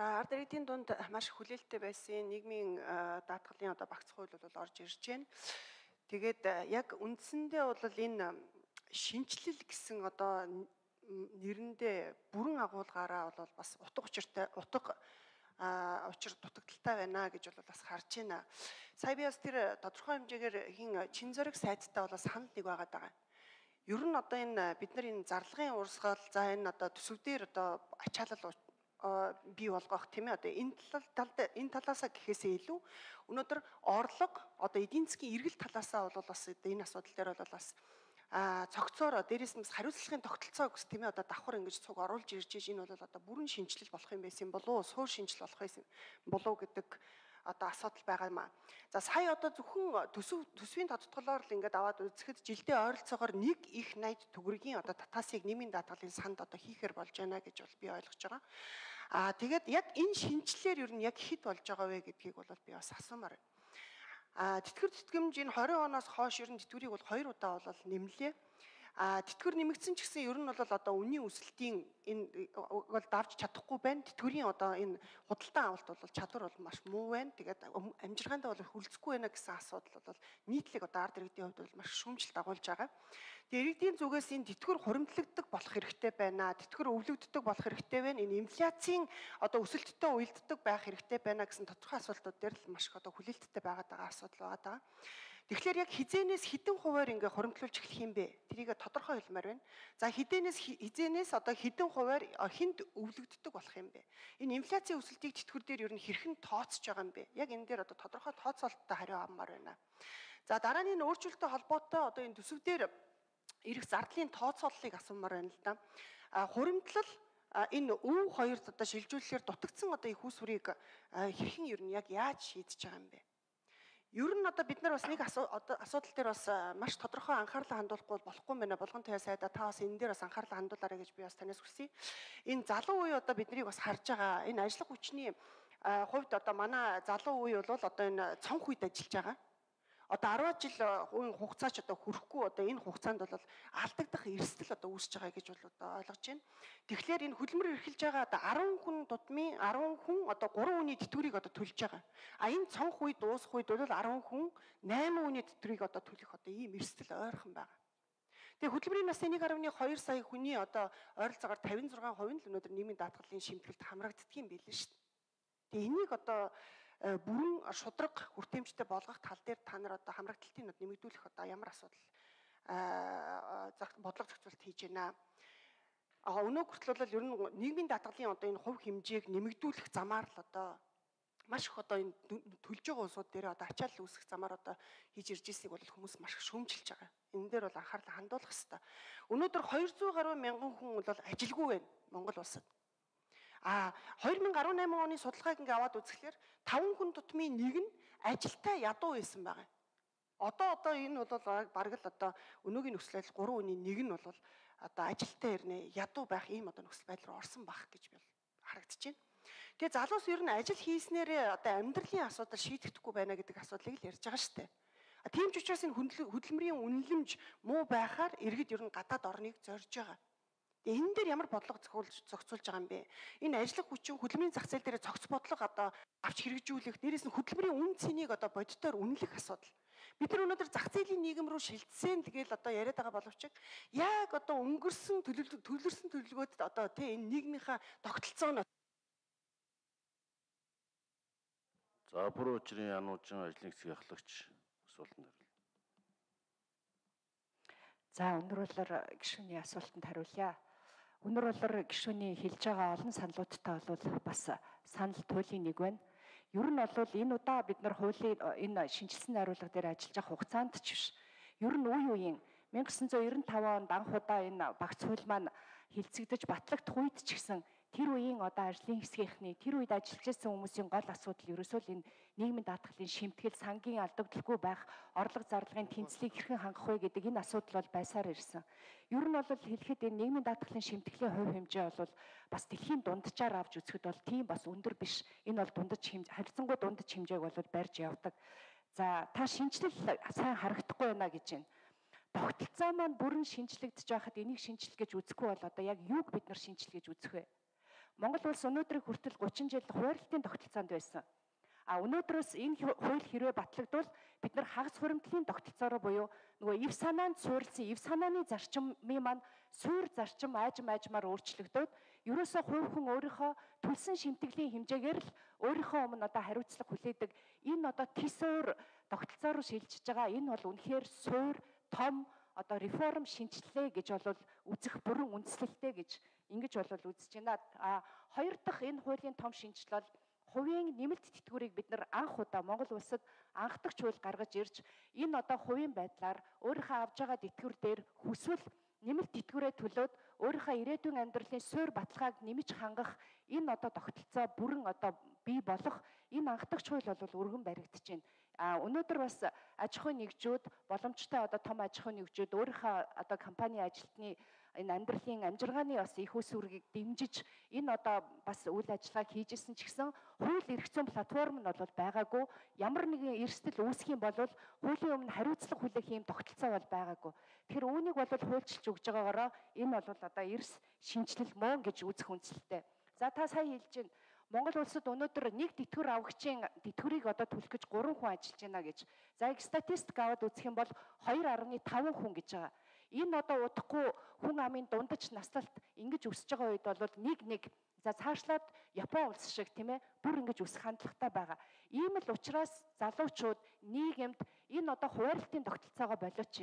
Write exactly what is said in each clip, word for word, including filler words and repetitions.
За ард иргэдийн дунд маш хүлээлттэй байсан нийгмийн даатгалын одоо багц хууль бол орж ирж байна. Тэгээд яг үндсэндээ бол энэ шинжилэл гэсэн одоо нэрэндээ бүрэн агуулгаараа бол бас утга учиртай утга учир дутагдaltaй байна гэж бол бас харж байна. Сая би бас тэр тодорхой хэмжээгээр хин чин зориг сайттай бол санал нэг байгаад байгаа. Ер нь одоо энэ бид нар энэ зарлагын урсгал за энэ одоо төсөвдөр одоо ачаалал бий болгох тийм ээ одоо энэ талд энэ талаасаа гэхээсээ илүү өнөөдөр орлого одоо эдийн засгийн эргэл талаасаа бол бас энэ асуудал дээр бол бас а цогцоор дээрээс нь бас хариуцлагын тогтолцоо гэсэн тийм ээ одоо давхар ингэж цуг оруулж ирж иж энэ бол одоо бүрэн шинжилэл болох юм байсан болов уу суур шинжил болох юм болов гэдэг одоо асуудал байгаа юм аа. За сая одоо зөвхөн төсөв төсвийн тодтголоор л ингээд аваад үзэхэд жилдээ ойролцоогоор нэг их найд төгрөгийн одоо татаасыг нэмийн даатгалын санд одоо хийхээр болж байна гэж бол би ойлгож байгаа. Аа тэгээд яг энэ шинжилээр ер нь яг хэд болж байгаа вэ гэдгийг бол би бас асуумаар байна. Аа тэтгэр тэтгэмж энэ хорин оноос хойш ер нь тэтгэврийг бол хоёр удаа бол нэмлээ. А тэтгэр нэмэгдсэн ч гэсэн ер нь бол одоо үнийн өсөлтийн энэ бол давж чадахгүй байна. Тэтгэврийн одоо энэ худалдан авалт бол чадвар бол маш муу байна. Тэгээд амжиргаандаа бол хүлцэхгүй байна гэсэн асуудал бол нийтлэг одоо ард иргэдийн хувьд бол маш шүүмжлэлт агуулж байгаа. Тэгээд иргэдийн зүгээс энэ тэтгэр хуримтлагддаг болох хэрэгтэй байна. Тэтгэр өвлөгддөг болох хэрэгтэй байна. Энэ инфляцийн одоо өсөлттэй уялддаг байх хэрэгтэй байна гэсэн тодорхой асуултууд дээр л маш их одоо хүлээлттэй байгаад байгаа асуудал байгаа. Тэгэхээр яг хизээнээс хэдэн хувиар ингээ хуримтлуулж эхлэх юм бэ? Тэрийг тодорхой хэлмээр байна. За хизээнээс хизээнээс одоо хэдэн хувиар хүнд өвлөгддөг болох юм бэ? Энэ инфляцийн өсөлтийг тэтгэвэр дээр ер нь хэрхэн тооцож байгаа юм бэ? Яг энэ дээр одоо тодорхой тооцоолттой хариу авмаар байна. За дараа нь энэ өөрчлөлттэй холбоотой одоо энэ төсөв дээр ирэх зардлын тооцооллыг асуумаар байна л да. А хуримтлал энэ өв хоёрт одоо шилжүүлэхээр дутагдсан одоо их усврыг хэрхэн ер нь яг яаж шийдэж байгаа юм бэ? Ер нь одоо бид нар бас нэг асуудал дээр бас маш тодорхой анхаарлаа хандуулахгүй болохгүй байна. Болгон туяа сайда та бас энэ дээр бас анхаарлаа хандуулаарай гэж би бас танаас хүсье. Энэ залуу үе одоо биднийг бас харж байгаа. Энэ ажиллах хүчний хувьд одоо манай залуу үе бол одоо энэ цонх үед ажиллаж байгаа. Одоо арван жил үеийн хугацаач одоо хүрэхгүй одоо энэ хугацаанд бол алдагдах эрсдэл одоо үүсэж байгаа гэж бол одоо ойлгож байна. Тэгэхээр энэ хөдөлмөр эрхэлж байгаа одоо арван хүн тутмын арван хүн одоо гурван үний тэтгэврийг одоо төлж байгаа. А энэ цонх үе дуусах үед бол арван хүн найман үний тэтгэврийг одоо төлөх одоо ийм эрсдэл ойрхон байгаа. Тэгээ хөдөлмөрийн насны нэг гаруй хоёр сая хүний одоо ойролцоогоор тавин зургаан хувийн л өнөөдөр нийгмийн даатгалын шимтгэлд хамрагддаг юм билээ шүү дээ. Тэгээ энийг одоо бүрэн шудраг хүртээмжтэй болгох тал дээр та нар одоо хамрагдалтыг нэмэгдүүлэх одоо ямар асуудал бодлого зохицуулт хийж байна. А өнөө хүртэл бол ер нь нийгмийн даатгалын одоо энэ хувь хэмжээг нэмэгдүүлэх замаар л одоо маш их одоо энэ төлж байгаа улсууд дээр одоо ачаалал үүсгэх замаар одоо хийж ирж ирснийг бол хүмүүс маш их шүүмжилж байгаа. Энэ дээр бол анхаарлаа хандуулах хэрэгтэй. Өнөөдөр двести гаруй мянган хүн бол ажилгүй байна Монгол улсад. А две тысячи десять оны судалгааг ингээ аваад үзэхлээр таван хүн тутмын нэг нь ажилтай ядуу байсан байгаа. Одоо одоо энэ бол бараг л одоо өнөөгийн нөхцөл байдал гурван үний нэг нь бол одоо ажилтай ирнэ ядуу байх ийм одоо нөхцөл байдал руу орсон байх гэж би харагдаж байна. Тэгээ залуус ер нь ажил хийснээрээ одоо амьдралын асуудал шийдэхдэггүй байна гэдэг асуудлыг л ярьж байгаа шүү дээ. А тийм ч учраас энэ хөдөлмөрийн үнэлэмж муу байхаар иргэд ер нь гадаад орныг зорж байгаа. Тэгээ энэ дээр ямар бодлого зохицуулж байгаа юм бэ? Энэ ажиллах хүчин хөдөлмөрийн зах зээл дээр цогц бодлого одоо авч хэрэгжүүлэх, дээрээс нь хөдөлмөрийн үн цэнийг одоо бодитоор үнэлэх асуудал. Бид нар өнөөдөр зах зээлийн нийгэм рүү шилжсэн тэгэл одоо яриад байгаа боловч яг одоо өнгөрсөн төлөвлөсөн төлөвлөгөөд одоо тий энэ нийгмийнхаа тогтолцоо нь За бүр учрын януужин ажлын хэсгийн ахлагч асуултанд хариулна. За өнөр болоор гишүүний асуултанд хариулъя. Өнөр болоор гишүүний хэлж байгаа олон саналуудтай бол бас санал туйлын нэг байна. Ер нь бол энэ удаа бид нар хуулийн энэ шинжилсэн найруулга дээр ажиллаж байгаа хугацаанд ч биш. Ер нь үе үеийн 천구 девяносто five онд анх удаа энэ багц хууль маань хилцэгдэж батлагдах үед ч гэсэн тэр үеийн одоо ажлын хэсгийнхний тэр үед ажиллаж байсан хүмүүсийн гол асуудал ерөөсөө л энэ нийгмийн даатгалын шимтгэл сангийн алдагдaltaгүй байх орлого зарлагын тэнцлийг хэрхэн хангах вэ гэдэг энэ асуудал бол байсаар ирсэн. Ер нь бол хэлэхэд энэ нийгмийн даатгалын шимтгэлийн хувь хэмжээ бол бас дэлхийн дунджаар авч үзэхэд бол тийм бас өндөр биш. Энэ бол дундаж хэмжээ харьцангуй дундаж хэмжээг бол барьж явдаг. За та шинжилэл сайн харагдахгүй байна гэж байна. Тогтолцоо маань бүрэн шинжлэгдэж байхад энийг шинжил гэж үзэхгүй бол одоо яг юуг бид нар шинжил гэж үзэх вэ? Монгол улс өнөөдрийг хүртэл гучин жил хуваарлтын тогтолцоонд байсан. А өнөөдрөөс энэ хууль хэрвээ батлагдвал бид нар хагас хуримтлалын тогтолцоороо буюу нөгөө ив санаанд суурилсан ив санааны зарчмын маань суур зарчим аажим аажмаар өөрчлөгдөөд ерөөсөө хувь хүн өөрийнхөө төлсөн шимтгэлийн хэмжээгээр л өөрийнхөө өмнө одоо хариуцлага хүлээдэг энэ одоо тисуур тогтолцоо руу шилжиж байгаа. Энэ бол үнэхээр суур том одоо реформ шинжилгээ гэж бол үзэх бүрэн үндэслэлтэй гэж ингэж бол үзэж байна. А хоёр дахь энэ хуулийн том шинжил бол хувийн нэмэлт тэтгэврийг бид нар анх удаа Монгол улсад анхдагч хууль гаргаж ирж энэ одоо хувийн байдлаар өөрийнхөө авж байгаа тэтгэвэр дээр хүсвэл нэмэлт тэтгэврээ төлөөд өөрийнхөө ирээдүйн амьдралын суурь баталгааг нэмж хангах энэ одоо тогтолцоо бүрэн одоо бий болох энэ анхдагч хууль бол өргөн баригдаж байна. А өнөөдөр бас аж ахуйн нэгжүүд боломжтой одоо том аж ахуйн нэгжүүд өөрийнхөө одоо компани ажилтны энэ амьдралын амжиргааны бас их ус үргийг дэмжиж энэ одоо бас үйл ажиллагааг хийжсэн ч гэсэн хууль эрх зүйн платформ нь бол байгаагүй. Ямар нэгэн эрсдэл үүсэх юм бол хуулийн өмнө хариуцлага хүлээх юм тогтолцоо бол байгаагүй. Тэгэхээр үүнийг бол хуульчилж өгж байгаагаараа энэ бол одоо эрс шинжилэл мөн гэж үзэх үндсэлтэй. За та сая хэлж байна. Монгол улсад өнөөдөр нэг тэтгэвэр авагчийн тэтгэврийг одоо төлөх гэж гурван хүн ажиллаж байна гэж. За их статистик аваад үзэх юм бол хоёр гаруй таван хүн гэж байгаа. Энэ одоо удахгүй хүн амын дундаж наслалт ингэж өсөж байгаа үед бол нэг нэг за цаашлаад Япон улс шиг тийм ээ бүр ингэж өсөх хандлагатай байгаа. Ийм л учраас залуучууд нийгэмд энэ одоо хуваарлтын тогтолцоогоо болооч.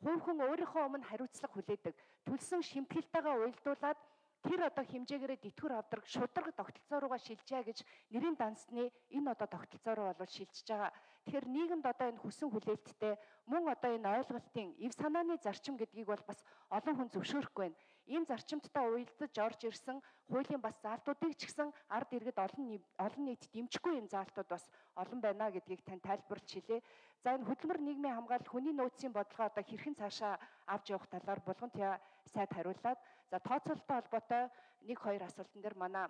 Хувь хүн өөрийнхөө өмнө хариуцлага хүлээдэг. Төлсөн шимтгэлтэйгээ уялдуулаад тэр одоо хэмжээгээрээ тэтгэвэр авдаг шударга тогтолцоо руугаа шилжээ гэж нэрийн дансны энэ одоо тогтолцоо руу бол шилжиж байгаа. Тэгэхээр нийгэмд одоо энэ хүсэн хүлээлттэй мөн одоо энэ ойлголтын ив санааны зарчим гэдгийг бол бас олон хүн зөвшөөрөхгүй байна. Ийм зарчимттай уялдаж орж ирсэн хуулийн бас заалтуудыг ч гэсэн ард иргэд олон олон нийт дэмжихгүй юм заалтууд бас олон байна гэдгийг тань тайлбарлаж хэлье. За энэ хөдөлмөр нийгмийн хамгаалал хүний нөөцийн бодлогоо одоо хэрхэн цаашаа авч явах талаар булган туяа сайд хариуллаад за тооцоололтой холбоотой нэг хоёр асуултан дээр манай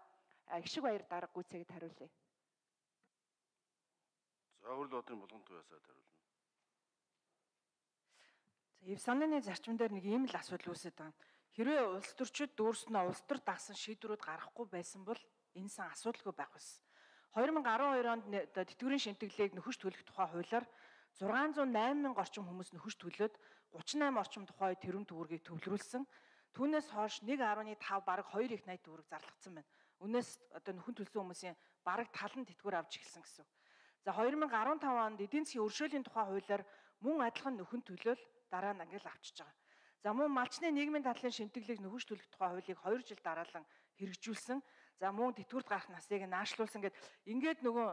Ишиг Баяр дарга гүйцэтгэд хариулъя. За Өвөрл Бодрын булган туяа сайд хариулна. За ив санааны зарчим дээр нэг ийм л асуудал үүсэж байгаа. Хэрвээ улс төрчид дүүрснөө улс төр дагсан шийдвэрүүд гаргахгүй байсан бол энэ сан асуудалгүй байх байсан. хоёр мянга арван хоёр онд тэтгэврийн шимтгэлийг нөхөж төлөх тухай хуулиар зургаан зуун найман мянга орчим хүмүүс нөхөж төлөөд гучин найман орчим тухай тэрүүн төгрөгийг төвлөрүүлсэн. Түүнээс хойш нэг гаруй тав бараг хоёр их найт төгрөг зарлагдсан байна. Үнээс одоо нөхөн төлсөн хүмүүсийн бараг тал нь тэтгэвэр авч эхэлсэн гэсэн. За хоёр мянга арван тав онд эдийн засгийн өршөөлийн тухай хуулиар мөн адилхан нөхөн төлөөл дараа нь ангил авчиж байгаа. За мөн малчны нийгмийн дадлын шимтгэлийг нөхөж төлөх тухай хуулийг хоёр жил дараалан хэрэгжүүлсэн. За мөн тэтгэврт гарах насыг наашлуулсан гэд ингээд нөгөө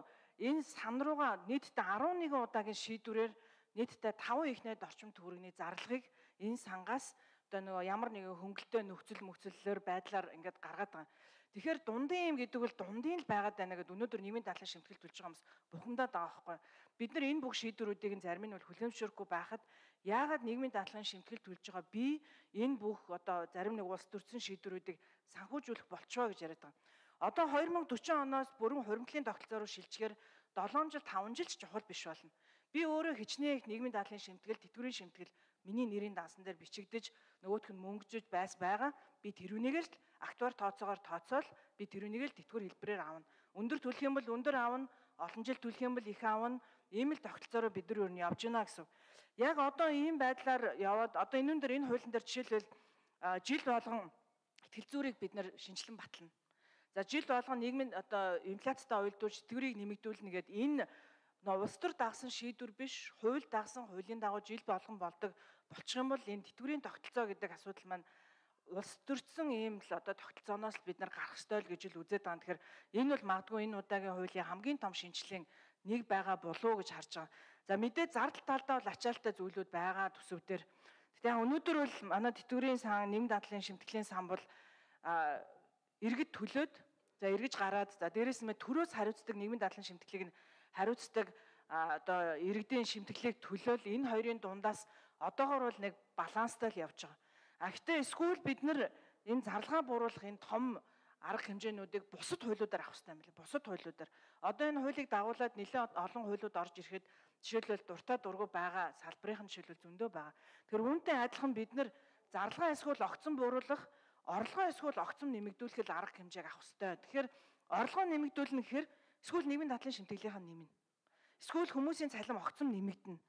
энэ сан руугаа нийтдээ арван нэгэн удаагийн шийдвэрээр нийтдээ таван их найд орчим төгрөгийн зарлагыг энэ сангаас одоо нөгөө ямар нэгэн хөнгөлтэй нөхцөл мөхцөллөөр байдлаар ингээд гаргаад байгаа. Тэгэхээр дундын юм гэдэг бол дундын л байгаад байна гэдэг өнөөдөр нийгмийн дадлын шимтгэл төлж байгаа хүмүүс бухимдаад байгаа байхгүй. Бид нар энэ бүх шийдвэрүүдийг зарим нь бол хүлээмжшөөрөхгүй байхад яагаад нийгмийн дадлын шимтгэл төлж байгаа би энэ бүх одоо зарим нэг улс төрсэн шийдвэрүүдийг санхүүжүүлэх болчихоо гэж яриад байгаа. Одоо хоёр мянга дөрвөн оноос бүрэн хуримтлалын тогтолцоо руу шилжчихээр долоон жил таван жил ч чухал биш болно. Би өөрөө хичнээн их нийгмийн дадлын шимтгэл, тэтгэврийн шимтгэл миний нэрийн дансан дээр бичигдэж нөгөөх нь мөнгөжж байс байгаа. Би тэрүүнийг л актуар тооцоогоор тооцоол би тэрүүнийг л тэтгэвэр хэлбэрээр авна. Өндөр төлөх юм бол өндөр авна, олон жил төлөх юм бол их авна. Ийм л тогтолцоороо бид нар юу нь явж байна гэсэн. Яг одоо ийм байдлаар яваад одоо энүүн дээр энэ хуулийн дээр жишээлбэл жил болгон итгэл зүйрийг бид нар шинжилэн батлана. За жил болгон нийгмийн одоо инфляцтай уялдуулж тэтгэврийг нэмэгдүүлнэ гэдэг энэ улс төр дагсан шийдвэр биш, хууль дагсан хуулийн дагуу жил болгон болдог болчих юм бол энэ тэтгэврийн тогтолцоо гэдэг асуудал маань улс төрсөн ийм л одоо тогтолцооноос бид нар гарах ёстой л гэж л үзээд байгаа. Тэгэхээр энэ бол магадгүй энэ удаагийн хуулийн хамгийн том шинжилгээний нэг байгаа болов уу гэж харж байгаа. За мэдээ зардал талдаа бол ачаалттай зүйлүүд байгаа төсөв дээр. Тэгтээ өнөөдөр бол манай тэтгэврийн сан, нийгэм дадлын шимтгэлийн сан бол иргэд төлөөд за эргэж гараад за дээрээс нь төрөөс хариуцдаг нийгмийн дадлын шимтгэлийг нь хариуцдаг одоо иргэдийн шимтгэлийг төлөөл энэ хоёрын дундаас одоогоор бол нэг баланстай л явж байгаа. А гэхдээ эсвэл бид нар энэ зарлагаа бууруулах энэ том арга хэмжээнүүдийг бусад хуулиудаар авах хэрэгтэй юм байна. Бусад хуулиудаар. Одоо энэ хуулийг дагуулад нэлээд олон хуулиуд орж ирэхэд жишээлбэл дуртай дургу байгаа салбарын жишээлбэл зөндөө байгаа. Тэгэхээр үүнтэй адилхан бид нар зарлагаа эсвэл огцон бууруулах орлогоо эсвэл огцом нэмэгдүүлэхэд арга хэмжээг авах ёстой. Тэгэхээр орлогоо нэмэгдүүлнэ гэхээр эсвэл нийгмийн дадлын шимтгэлийнх нь нэмнэ. Эсвэл хүмүүсийн цалин огцом нэмэгдэнэ.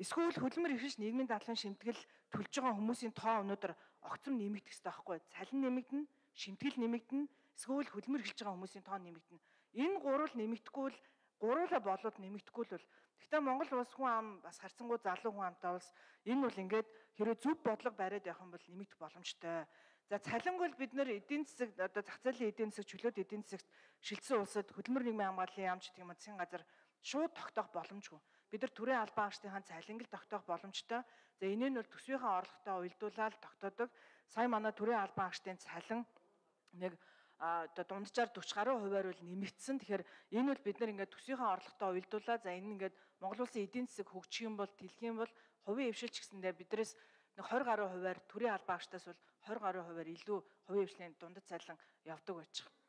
Эсвэл хөдөлмөр эрхэлж нийгмийн дадлын шимтгэл төлж байгаа хүмүүсийн тоо өнөөдөр огцом нэмэгдэх ёстой байхгүй. Цалин нэмэгдэнэ, шимтгэл нэмэгдэнэ, эсвэл хөдөлмөр эрхэлж байгаа хүмүүсийн тоо нэмэгдэнэ. Энэ гурвал нэмэгдэхгүй л гуруула болоод нэмэгдэхгүй л бол гэхдээ Монгол улс хүн ам бас харьцангуй залуу хүн амтай улс энэ бол ингээд хэрэв зөв бодлого бариад явах юм бол нэмэгдэх боломжтой. За цалинг бол бид нэр эдийн засаг одоо зах зээлийн эдийн засаг чөлөөт эдийн засагт шилжсэн улсад хөдөлмөр нийгмийн хамгааллын яамч гэх юм уу засгийн газар шууд тогтоох боломжгүй. Бид нар төрийн албан агчдынхаа цалинг л тогтоох боломжтой. За энэ нь бол төсвийнхаа орлоготой уялдуулаад тогтоодог. Сая манай төрийн албан агчдын цалин нэг одоо дунджаар дөрвөн гаруй хувиар бол нэмэгдсэн. Тэгэхээр энэ бол бид нар ингээд төсвийнхаа орлоготой уялдуулаа. За энэ ингээд Монгол улсын эдийн засаг хөгжих юм бол дэлхийн юм бол хувийн хвшилч гэсэндээ биднээс нэг двадцать гаруй хувиар төрийн албан агчдаас бол двадцать гаруй хувиар илүү хувийн хвшлийн дундад цалин явдаг байж байгаа.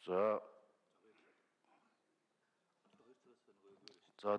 За. За